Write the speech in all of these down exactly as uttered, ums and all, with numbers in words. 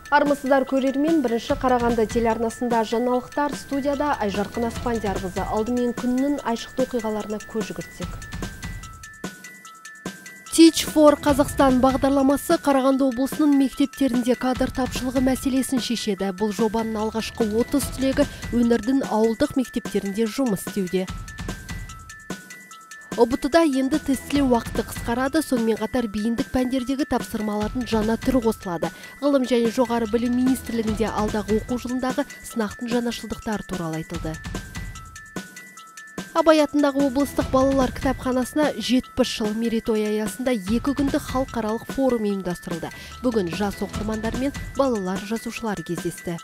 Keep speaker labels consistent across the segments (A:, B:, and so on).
A: Армысыздар көрермен, бірінші Қарағанды телеарнасында жаңалықтар, студияда Айжарқын Аспандиярқызы. Алдымен күннің айшықты оқиғаларына көз жүгіртсек. Teach for Қазақстан бағдарламасы Қарағанды облысының мектептерінде кадр тапшылығы мәселесін шешеді. Бұл жобаның алғашқы отыз түлегі өңірдің ауылдық мектептерінде жұмыс істеуде. ұбт-да енді тестілеу уақыты қысқарады, сонымен қатар бейіндік пәндердегі тапсырмалардың жаңа түрі қосылады. Ғылым және жоғары білім министрлігінде алдағы оқу жылындағы сынақтың жаңашылдықтары туралы айтылды. Абай атындағы облыстық балалар кітапханасына жетпіс жыл мерейтой аясында екі күндік халықаралық форум ұйымдастырылды. Бүгін жас оқырмандар мен балалар жазушылар кездесті.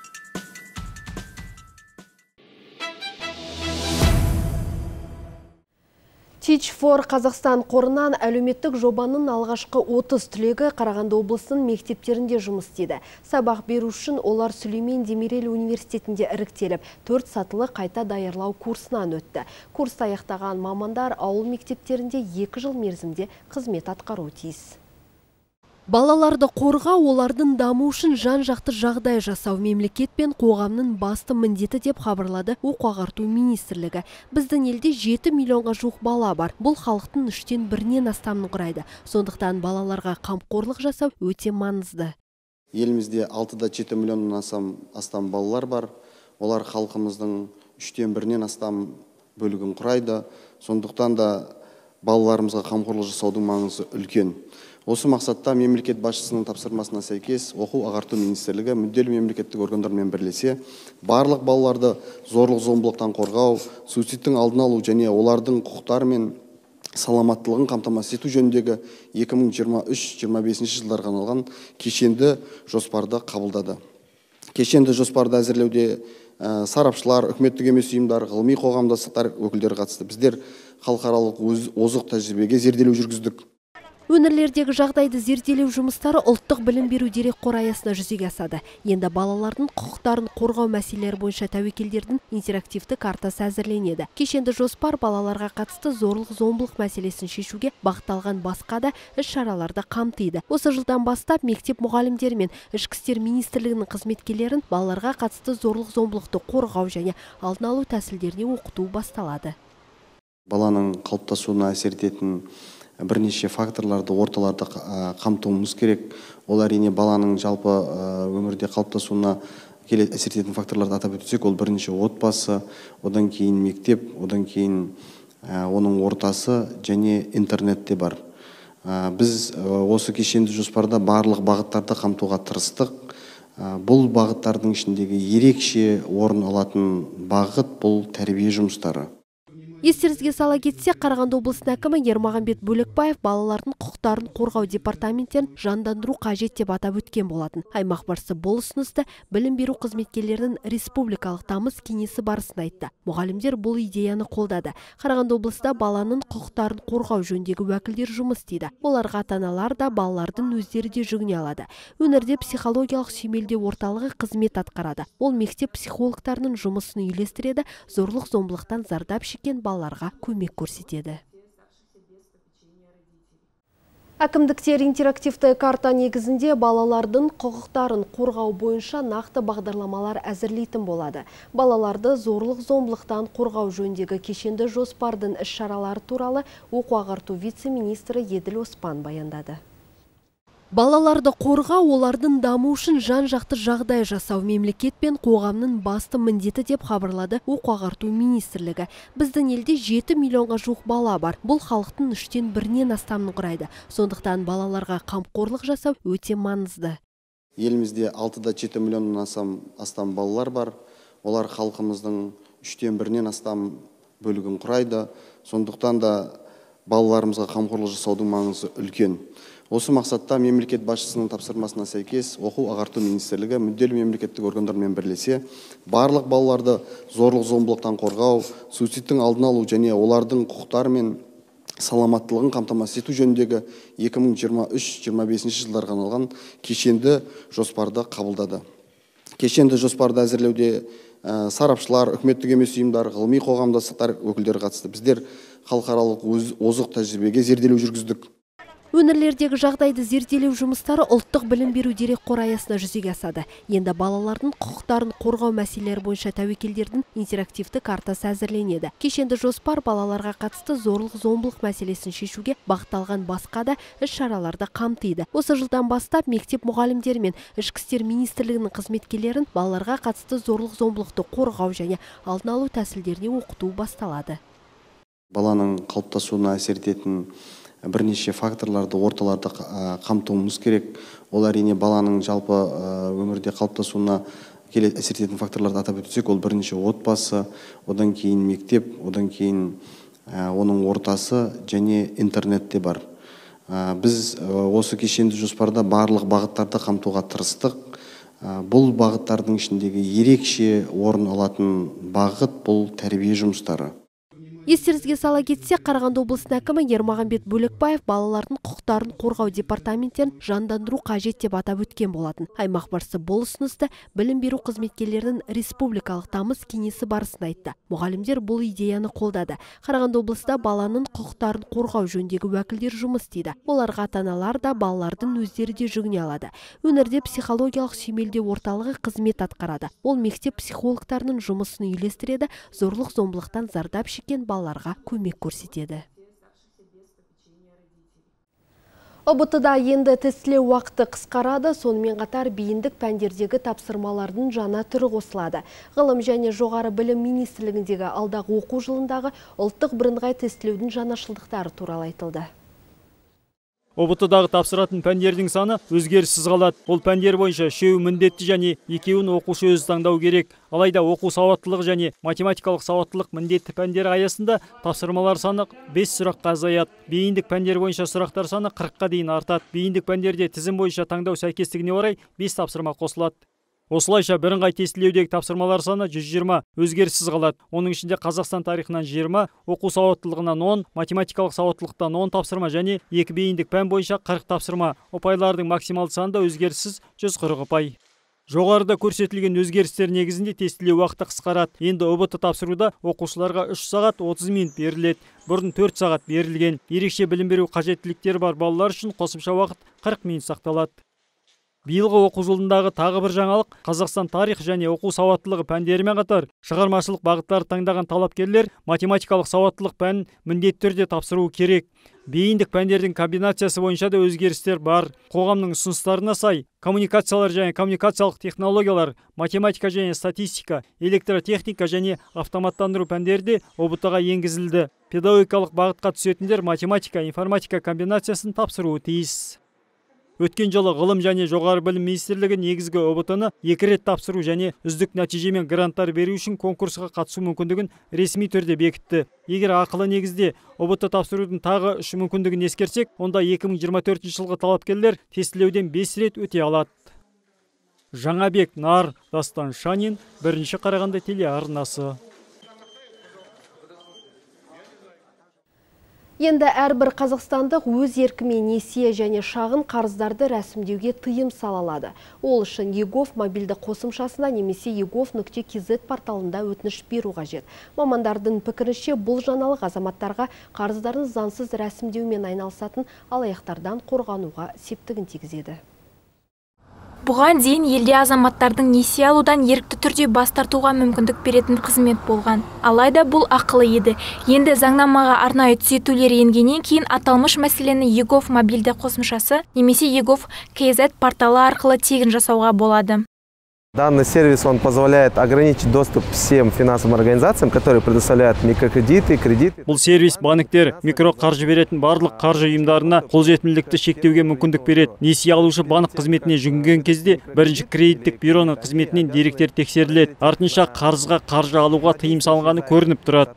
A: Teach for Қазақстан қорынан әлеуметтік жобаның алғашқы отыз түлегі Қарағанды облысының мектептерінде жұмыс істеді. Сабақ беру үшін олар Сүлеймен Демирел университетінде іріктеліп, төрт сатылы қайта даярлау курсынан өтті. Курсты аяқтаған мамандар ауыл мектептерінде екі жыл мерзімде қызмет атқаруы тиіс. Балаларды қорғау, олардың даму үшін жан-жақты жағдай жасау мемлекет пен қоғамның басты міндеті деп хабарлады оқу ағарту министрлігі. Біздің елде жеті миллионға жуық бала бар. Бұл халықтың үштен бірінен астамын құрайды. Сондықтан балаларға қамқорлық жасау өте маңызды.
B: Елімізде алтыда жеті миллионнан астам, астам балалар бар. Олар халқымыздың үштен бірінен астам бөлігін құрайды. Сондықтан да балаларымызға қамқорлық жасаудың маңызы үлкен. Осы мақсатта мемлекет басшысының тапсырмасына сәйкес оқу ағарту министрлігі мүдделі мемлекеттік органдармен бірлесе, барлық балаларды зорлық-зомбылықтан қорғау, суицидтің алдын алу және олардың құқықтары мен саламаттылығын қамтамасыз ету жөніндегі екі мың жиырма үш жиырма бесінші жылдарға арналған кешенді жоспарды қабылдады. Кешенді жоспарды әзірлеуде ә, сарапшылар, үкіметтік емес ұйымдар, ғылыми қоғамдастықтар өкілдері қатысты. Біздер халықаралық озық тәжірибеге зерделеу жүргіздік.
A: Өңірлердегі жағдайды зерделеу жұмыстары ұлттық білім беру дерекқоры аясында жүзеге асады. Енді балалардың құқықтарын қорғау мәселелері бойынша тәуекелдердің интерактивті картасы әзірленеді. Кешенді жоспар балаларға қатысты зорлық-зомбылық мәселесін шешуге бағытталған басқа да іс-шараларды қамтиды. Осы жылдан бастап мектеп мұғалімдері мен ішкі істер министрлігінің қызметкерлерін балаларға қатысты зорлық-зомбылықты қорғау және алдын алу тәсілдеріне оқыту басталады.
B: Баланың қалыптасуына әсер ететін бірнеше факторларды, орталарды қамтуымыз керек. Ол әрине баланың жалпы өмірде қалыптасуына әсер ететін факторларды атап өтсек, ол бірінші отбасы, одан кейін мектеп, одан кейін оның ортасы және интернетте бар. Біз осы кешенді жоспарда барлық бағыттарды қамтуға тырыстық. Бұл бағыттардың ішіндегі ерекше орын алатын бағыт бұл тәрбие жұмыстары.
A: Естеріңізге сала кетсек, Қарағанды облысының әкімі Ермағанбет Бөлекбаев балалардың құқықтарын қорғау департаменттерін жандандыру қажет деп атап өткен болатын. Аймақ басшысы бұл ұсынысты білім беру қызметкерлерінің республикалық тамыз кеңесі барысында айтты. Мұғалімдер бұл идеяны қолдады. Қарағанды облысында баланың құқықтарын қорғау жөніндегі уәкілдер жұмыс істейді. Оларға ата-аналар да балалардың өздері де жүгіне алады. Өңірде психологиялық сүйемелдеу орталығы қызмет атқарады. Ол мектеп психологтарының жұмысын үйлестіреді, зорлық-зомбылықтан зардап шеккен балаларға көмек көрсетеді. Әкімдіктер интерактивті карта негізінде балалардың құқықтарын қорғау бойынша нақты бағдарламалар әзірлейтін болады. Балаларды зорлық-зомбылықтан қорғау жөніндегі кешенді жоспардың іс-шаралары туралы оқу ағарту вице-министрі Еділ Оспан баяндады. Балаларды қорғау, олардың даму үшін жан-жақты жағдай жасау мемлекет пен қоғамның басты міндеті деп хабарлады оқу ағарту министрлігі. Біздің елде жеті миллионға жуық бала бар. Бұл халықтың үштен бірінен астамын құрайды. Сондықтан балаларға қамқорлық жасау өте маңызды.
B: Елімізде алтыда жеті миллионнан астам, астам балалар бар. Олар халқымыздың үштен бірінен астам бөлігін құрайды. Сондықтан да балаларымызға қамқорлық жасаудың маңызы үлкен. Осы мақсатта мемлекет басшысының тапсырмасына сәйкес оқу ағарту министрлігі мүдделі мемлекеттік органдармен бірлесе, барлық балаларды зорлық-зомбылықтан қорғау, суицидтің алдын алу және олардың құқықтары мен саламаттылығын қамтамасыз ету жөніндегі екі мың жиырма үш жиырма бесінші жылдарға арналған кешенді жоспарды қабылдады. Кешенді жоспарды әзірлеуде сарапшылар, үкіметтік емес ұйымдар, ғылыми қоғамдастықтар өкілдері қатысты. Біздер халықаралық озық тәжірибеге зерделеу жүргіздік.
A: Өңірлердегі жағдайды зерделеу жұмыстары ұлттық білім беру дерекқоры аясында жүзеге асады. Енді балалардың құқықтарын қорғау мәселелері бойынша тәуекелдердің интерактивті картасы әзірленеді. Кешенді жоспар балаларға қатысты зорлық-зомбылық мәселесін шешуге бағытталған басқа да іс-шараларды қамтиды. Осы жылдан бастап мектеп мұғалімдері мен ішкі істер министрлігінің қызметкерлерін балаларға қатысты зорлық-зомбылықты қорғау және алдын алу тәсілдеріне оқыту басталады.
B: Баланың қалыптасуына әсер ететін бірнеше факторларды орталарда қамтуымыз керек. Ол әрине баланың жалпы өмірде қалыптасуына әсер ететін факторларды атап өтсек, ол бірінші отбасы, одан кейін мектеп, одан кейін оның ортасы және интернетте бар. Біз осы кешенді жоспарда барлық бағыттарды қамтуға тырыстық. Бұл бағыттардың ішіндегі ерекше орын алатын бағыт бұл тәрбие жұмыстары.
A: Естеріңізге сала кетсе, Қарағанды облысының әкімі Ермағанбет Бөлекбаев балалардың құқықтарын қорғау департаменттерін жандандыру қажет деп атап өткен болатын. Аймақ басшысы бұл ұсынысты білім беру қызметкерлерінің республикалық тамыз кеңесі барысында айтты. Мұғалімдер бұл идеяны қолдады. Қарағанды облысында баланың құқықтарын қорғау жөніндегі уәкілдер жұмыс істейді. Оларға ата-аналар да балалардың өздері де жүгіне алады. Өңірде психологиялық сүйемелдеу орталығы қызмет атқарады. Ол мектеп психологтарының жұмысын үйлестіреді, зорлық-зомбылықтан зардап шеккен балаларға көмек көрсетеді. ұбт-да енді тестілеу уақыты қысқарады, сонымен қатар бейіндік пәндердегі тапсырмалардың жаңа түрі қосылады. Ғылым және жоғары білім министрлігіндегі алдағы оқу жылындағы ұлттық бірыңғай тестілеудің жаңашылдықтары туралы айтылды.
C: ұбт-дағы тапсыратын пәндердің саны өзгеріссіз қалады. Ол пәндер бойынша үшеуі міндетті және екеуін оқушы өзі таңдау керек. Алайда оқу сауаттылығы және математикалық сауаттылық міндетті пәндер аясында тапсырмалар саны бес сұраққа азаяды. Бейіндік пәндер бойынша сұрақтар саны қырыққа дейін артады. Бейіндік пәндерде тізім бойынша таңдау сәйкестігіне орай бес тапсырма қосылады. Осылайша бірыңғай тестілеудегі тапсырмалар саны жүз жиырма өзгеріссіз қалады. Оның ішінде Қазақстан тарихынан жиырма, оқу сауаттылығынан он, математикалық сауаттылықтан он тапсырма және екі бейіндік пән бойынша қырық тапсырма. Ұпайлардың максималды саны да өзгеріссіз жүз қырық ұпай. Жоғарыда көрсетілген өзгерістер негізінде тестілеу уақыты қысқарады. Енді ұбт тапсыруда оқушыларға үш сағат отыз минут беріледі. Бұрын төрт сағат берілген. Ерекше білім беру қажеттіліктері бар балалар үшін қосымша уақыт қырық минут сақталады. Биылғы оқу жылындағы тағы бір жаңалық Қазақстан тарих және оқу сауаттылығы пәндерімен қатар шығармашылық бағыттарды таңдаған талапкерлер математикалық сауаттылық пәнін міндетті түрде тапсыруы керек. Бейіндік пәндердің комбинациясы бойынша да өзгерістер бар. Қоғамның ұсыныстарына сай коммуникациялар және коммуникациялық технологиялар, математика және статистика, электротехника және автоматтандыру пәндері ұбт-ға енгізілді. Педагогикалық бағытқа түсетіндер математика, информатика комбинациясын тапсыруы тиіс. Өткен жылы ғылым және жоғары білім министрлігі негізгі ұбт-ны екі рет тапсыру және үздік нәтижемен гранттар беру үшін конкурсқа қатысу мүмкіндігін ресми түрде бекітті. Егер ақылы негізде ұбт тапсырудың тағы үш мүмкіндігін ескерсек, онда екі мың жиырма төртінші жылғы талапкерлер тестілеуден бес рет өте алады. Жаңабек Нар, Дастан Шанин, бірінші Қарағанды телеарнасы.
A: Енді әрбір қазақстандық өз еркімен несие және шағын қарыздарды рәсімдеуге тыйым салалады. Ол үшін егов мобильді қосымшасына немесе егов нүкте кз порталында өтініш беру қажет. Мамандардың пікірінше бұл жаңалық азаматтарға қарыздарын заңсыз рәсімдеумен айналысатын алаяқтардан қорғануға септігін тигізеді.
D: Бұған дейін елде азаматтардың несие алудан ерікті түрде бас тартуға мүмкіндік беретін қызмет болған. Алайда бұл ақылы еді. Енді заңнамаға арнайы түзетулер енгеннен кейін аталмыш мәселені егов мобильді қосымшасы немесе егов кз порталы арқылы тегін жасауға болады.
E: Данный сервис он позволяет ограничить доступ всем финансовым организациям, которые предоставляют микрокредиты, кредиты.
C: Бұл сервис банктер микроқаржы беретін барлық қаржы ұйымдарына қолжетімділікті шектеуге мүмкіндік береді. Несие алушы банк қызметіне жүгінген кезде бірінші кредиттік бюроның қызметінен деректер тексеріледі. Артынша қарызға қаржы алуға тыйым салынғаны көрініп тұрады.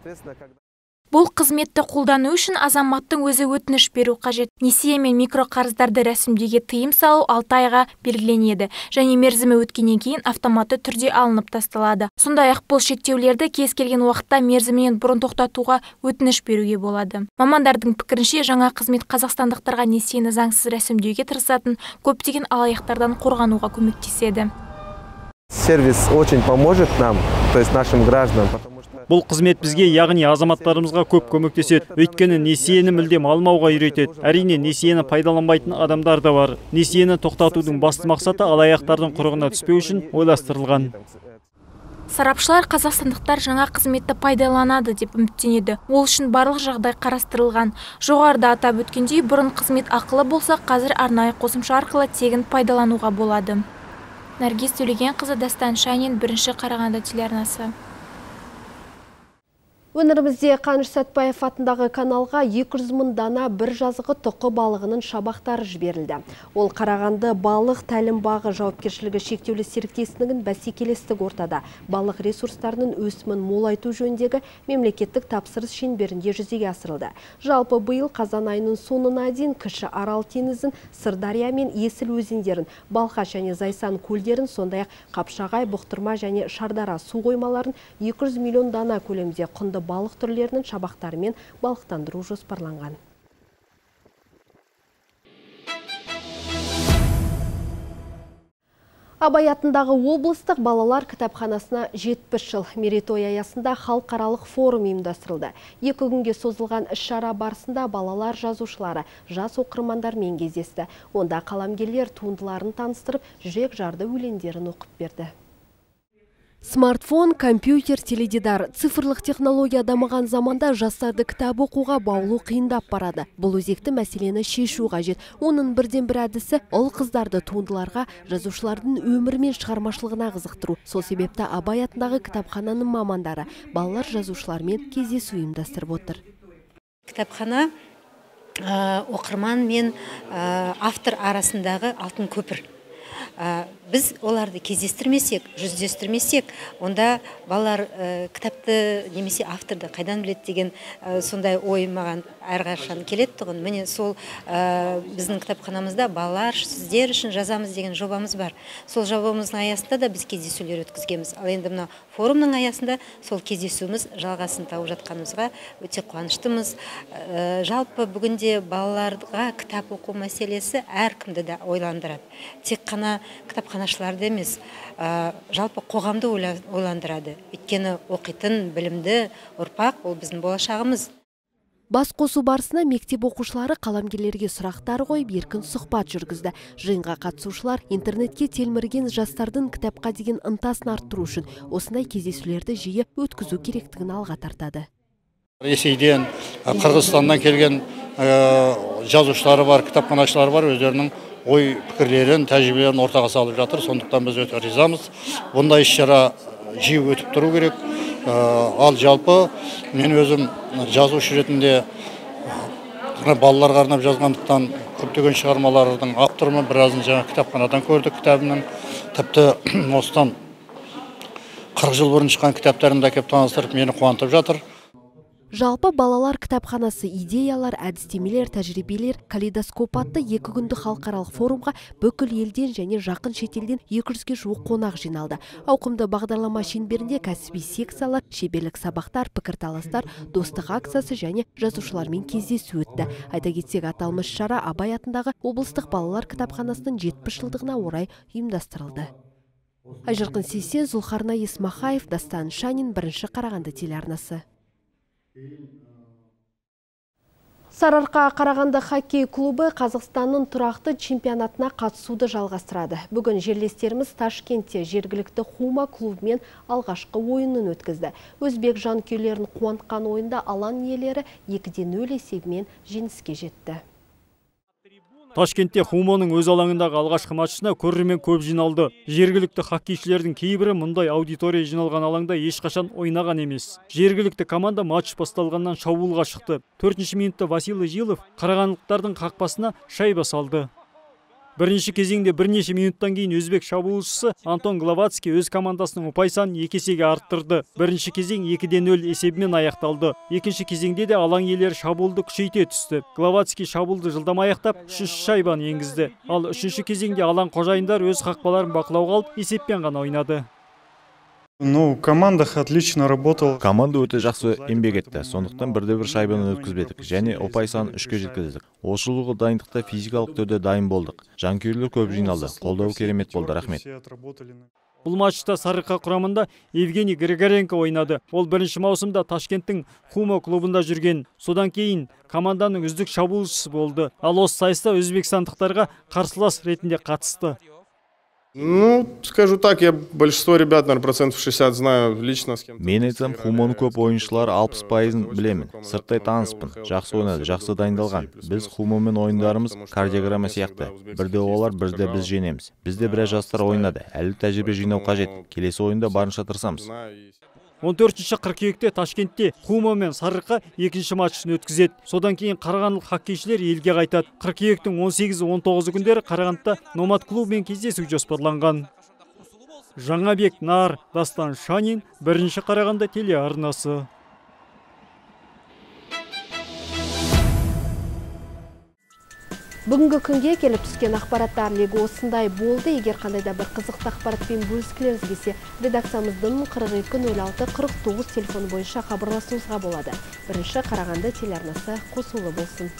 D: Бұл қызметті қолдану үшін азаматтың өзі өтініш беру қажет. Несие мен микроқарыздарды рәсімдеуге тыйым салу алты айға белгіленеді және мерзімі өткеннен кейін автоматты түрде алынып тасталады. Сондай-ақ бұл шектеулерді кез келген уақытта мерзімінен бұрын тоқтатуға өтініш беруге болады. Мамандардың пікірінше жаңа қызмет қазақстандықтарға несиені заңсыз рәсімдеуге тырысатын көптеген алаяқтардан қорғануға көмектеседі.
E: сервис очень поможет нам, то есть нашим гражданам.
C: Бұл қызмет бізге, яғни азаматтарымызға көп көмектеседі. Өйткені несиені мүлдем алмауға үйретеді. Әрине, несиені пайдаланбайтын адамдар да бар. Несиені тоқтатудың басты мақсаты алаяқтардың құрығына түспеу үшін ойластырылған.
D: Сарапшылар қазақстандықтар жаңа қызметті пайдаланады деп үміттенеді. Ол үшін барлық жағдай қарастырылған. Жоғарыда атап өткендей, бұрын қызмет ақылы болса, қазір арнайы қосымша арқылы тегін пайдалануға болады. Наргиз Төлегенқызы, Дастан Шанин, бірінші Қарағанды телеарнасы.
A: Өңірімізде Қаныш Сәтбаев атындағы каналға екі жүз мың дана бір жазығы тұқы балығының шабақтары жіберілді. Ол Қарағанды балық тәлім бағы жауапкершілігі шектеулі серіктестігінің бәсекелестік ортада балық ресурстарының өсімін молайту жөніндегі мемлекеттік тапсырыс шеңберінде жүзеге асырылды. Жалпы биыл қазан айының соңына дейін Кіші Арал теңізін, Сырдария мен Есіл өзендерін, Балқаш және Зайсан көлдерін, сондай-ақ Қапшағай, Бұқтырма және Шардара су қоймаларын екі жүз миллион дана көлемде құнды балық түрлерінің шабақтарымен балықтандыру жоспарланған. Абай атындағы облыстық балалар кітапханасына жетпіс жыл мерейтой аясында халықаралық форум ұйымдастырылды. Екі күнге созылған іс-шара барысында балалар жазушылары жас оқырмандармен кездесті. Онда қаламгерлер туындыларын таныстырып, жүрек жарды өлеңдерін оқып берді. Смартфон, компьютер, теледидар, цифрлық технология дамыған заманда жастарды кітап оқуға баулу қиындап барады. Бұл өзекті мәселені шешу қажет. Оның бірден бір әдісі ұл қыздарды туындыларға, жазушылардың өмірі мен шығармашылығына қызықтыру. Сол себепті Абай атындағы кітапхананың мамандары балалар жазушылармен кездесу ұйымдастырып отыр.
F: Кітапхана оқырман мен автор арасындағы алтын көпір. Біз оларды кездестірмесек, жүздестірмесек, онда балалар кітапты немесе авторды қайдан біледі деген сондай ой маған әрқашан келеді тұғын. Міне сол біздің кітапханамызда балалар сіздер үшін жазамыз деген жобамыз бар. Сол жобамыздың аясында да біз кездесулер өткізгенбіз. Ал енді мына форумның аясында сол кездесуіміз жалғасын тауып жатқанымызға өте қуаныштымыз. Жалпы бүгінде балаларға кітап оқу мәселесі әркімді де ойландырады. Тек қана кітапханашыларды емес, жалпы қоғамды ойландырады. Өйткені оқитын білімді ұрпақ ол біздің болашағымыз.
A: Бас қосу барысына мектеп оқушылары қаламгерлерге сұрақтар қойып, еркін сұхбат жүргізді. Жиынға қатысушылар интернетке телмірген жастардың кітапқа деген ынтасын арттыру үшін осындай кездесулерді жиі өткізу керектігін алға тартады.
G: Ресейден, Қырғызстаннан келген жазушылары бар, кітапханашылары бар, өздерінің ой пікірлерін, тәжірибелерін ортаға салып жатыр. Сондықтан біз өте ризамыз. Бұндай іс-шара жиі өтіп тұру керек. Ал жалпы мен өзім жазушы ретінде балаларға арнап жазғандықтан көптеген шығармалардың авторымын, біразын жаңа кітапханадан көрдік кітабының. Тіпті осыдан қырық жыл бұрын шыққан кітаптарымды әкеп таныстырып, мені қуантып жатыр.
A: Жалпы балалар кітапханасы идеялар, әдістемелер, тәжірибелер, калейдоскоп атты екі күнді халықаралық форумға бүкіл елден және жақын шетелден екі жүзге жуық қонақ жиналды. Ауқымды бағдарлама шеңберінде кәсіби секциялар, шеберлік сабақтар, пікірталастар, достық акциясы және жазушылармен кездесу өтті. Айта кетсек, аталмыш шара Абай атындағы облыстық балалар кітапханасының жетпіс жылдығына орай ұйымдастырылды. Айжарқын Сейсен, Зұлхарна Есмахаев, Дастан Шанин, бірінші Қарағанды телеарнасы. Сарыарқа Қарағанды хоккей клубы Қазақстанның тұрақты чемпионатына қатысуды жалғастырады. Бүгін жерлестеріміз Ташкентте жергілікті Хума клубымен алғашқы ойынын өткізді. Өзбек жанкүйерлерін қуантқан ойында алаң иелері екіде нөл есебімен жеңіске жетті.
C: Ташкентте Хуманың өз алаңындағы алғашқы матчына көрермен көп жиналды. Жергілікті хоккейшілердің кейбірі мұндай аудитория жиналған алаңда ешқашан ойнаған емес. Жергілікті команда матч басталғаннан шабуылға шықты. төртінші минутта Василий Жилов қарағандылықтардың қақпасына шайба салды. Бірінші кезеңде бірнеше минуттан кейін өзбек шабуылшысы Антон Гловацкий өз командасының ұпай санын екі есеге арттырды. Бірінші кезең екіде нөл есебімен аяқталды. Екінші кезеңде де алаң иелері шабуылды күшейте түсті. Гловацкий шабуылды жылдам аяқтап, үш шайбаны енгізді. Ал үшінші кезеңде алаң қожайындар өз қақпаларын бақылауға алып, есеппен ғана ойнады.
H: Ну, команда отлично работала.
I: Команда өте жақсы еңбек етті. Сондықтан бірде-бір шайбаны өткізбедік және ұпай санын үшке жеткіздік. Осы жылғы дайындықта физикалық түрде дайын болдық. Жанкүйерлер көп жиналды. Қолдау керемет болды, рахмет.
C: Бұл матчта Сарыарқа құрамында Евгений Григоренко ойнады. Ол бірінші маусымда Ташкенттің Хумо клубында жүрген. Содан кейін команданың үздік шабуылшысы болды. Ал осы сайыста өзбекстандықтарға қарсылас ретінде қатысты.
J: Ну, скажу так, я большинство ребят, наверное, процентов шестьдесят знаю лично, с кем.
I: Мен айтсам, Хумоның көп ойыншылар алпыс пайызын білемін. Сырттай таныспын. Жақсы ойнады, жақсы дайындалған. Біз Хумомен ойындарымыз кардиограмма сияқты. Бірде олар, бірде біз жеңеміз. Бізде біраз жастар ойнады. Әлі тәжірибе жинау қажет. Келесі ойында барынша тырысамыз.
C: он төртінші қыркүйекте Ташкентте Хумо мен Сарыарқа екінші матчын өткізеді. Содан кейін қарағандылық хоккейшілер елге қайтады. қыркүйектің он сегізі он тоғызы күндері Қарағандыда Номад клубымен кездесу жоспарланған. Жаңабек Нар, Дастан Шанин, бірінші Қарағанды телеарнасы.
A: Бүгінгі күнге келіп түскен ақпараттар легі осындай болды. Егер қандайда бір қызықты ақпаратпен бөліскілеріңіз келсе, редакциямыздың қырық екі нөл алты қырық тоғыз телефоны бойынша хабарласуыңызға болады. Бірінші Қарағанды телеарнасы қосулы болсын.